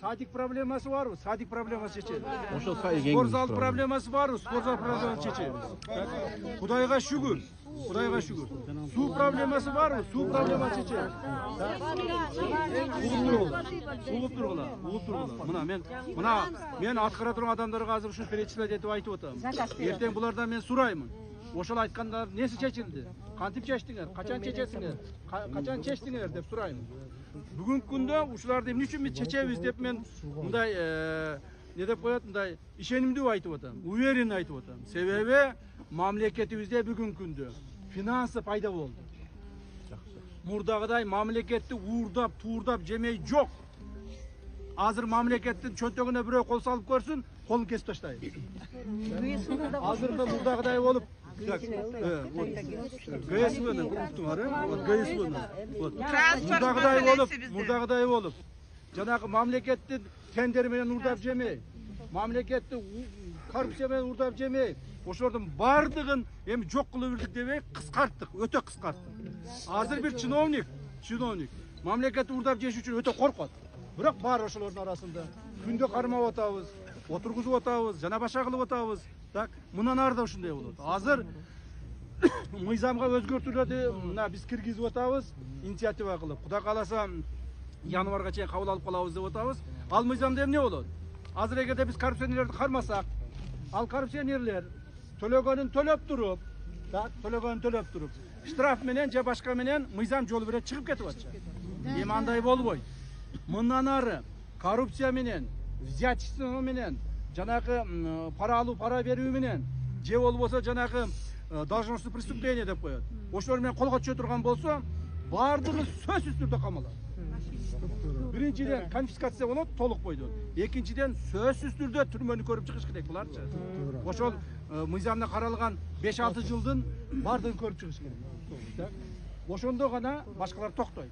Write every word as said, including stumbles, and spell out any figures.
Садик проблемасы барбы? Садик проблемасы чечебиз. Ошол сайы Спорт зал проблемасы барбы? Спорт зал проблемасы чечебиз. Кудайга шүгүр. Кудайга шүгүр. Суу проблемасы барбы? Суу проблемасы чечебиз. Угуп тургула. Угуп тургула. Угуп тургула. Мына мен мына мен аткара турган адамдарга азыр ушу перечислять этип айтып атам. Эртең булардан мен сураймын. Ошол айткандар неси чечилди? Кантип чечтиңер? Качан чечесиңер? Качан чечтиңер деп сурайм. Бүгүнкү күндө ушуларды эмне үчүн биз чечебиз деп мен мындай не деп коет, мындай ишенимдүү айтып атам, уверен айтып атам. Себеби мамлекетибизде бүгүнкү күндө финансы пайда болду. Мурдагыдай мамлекетти уурдап, туурдап жемей жок. Азыр мамлекеттин чөнтөгүнө бирөө кол салып көрсүн, колун кесип таштайт. Азыркы мурдагыдай болуп ГСВны уктуңар, э? Вот ГСВны. Вот. Мурдагыдай болуп, мурдагыдай болуп. Жанагы мамлекеттин тендери менен урдап жемей, мамлекетти коррупция менен урдап жемей, ошолордун бардыгын эми жок кылып билдик дебей кыскарттык, өтө кыскарттык. Азыр бир чиновник, чиновник мамлекетти урдап жеш үчүн өтө коркот. Бирок бар ошолордун арасында күндө кармап атабыз, отургузуп атабыз, жана башка кылып атабыз. Так, мындан ары да ушундай болот. Азыр мыйзамга өзгөртүүлөрдү мына биз киргизип атабыз, инициатива кылып. Кудай кааласа январга чейин кабыл алып калабыз деп атабыз. Ал мыйзамда эмне болот? Азыр эгерде биз коррупционерлерди кармасак, ал коррупционерлер төлөгөнүн төлөп туруп, так, төлөгөнүн төлөп туруп, штраф менен же башка менен мыйзам жолу менен чыгып кетип атчы. Эми андай болбойт. Мындан ары коррупция менен, взяточество менен, жанагы пара алуу, пара берүү менен, же болбосо жанагы должностное преступление деп коет. Ошолор менен колго түшө турган болсо, бардыгы сөзсүз түрдө камалат. Биринчиден конфискация болот, толук бойдон. Экинчиден сөзсүз түрдө түрмөнү көрүп чыгыш керек буларчы. Ошол мыйзамда каралган беш алты жылдын бардыгын көрүп чыгыш керек. Ошондо гана башкалар токтойт.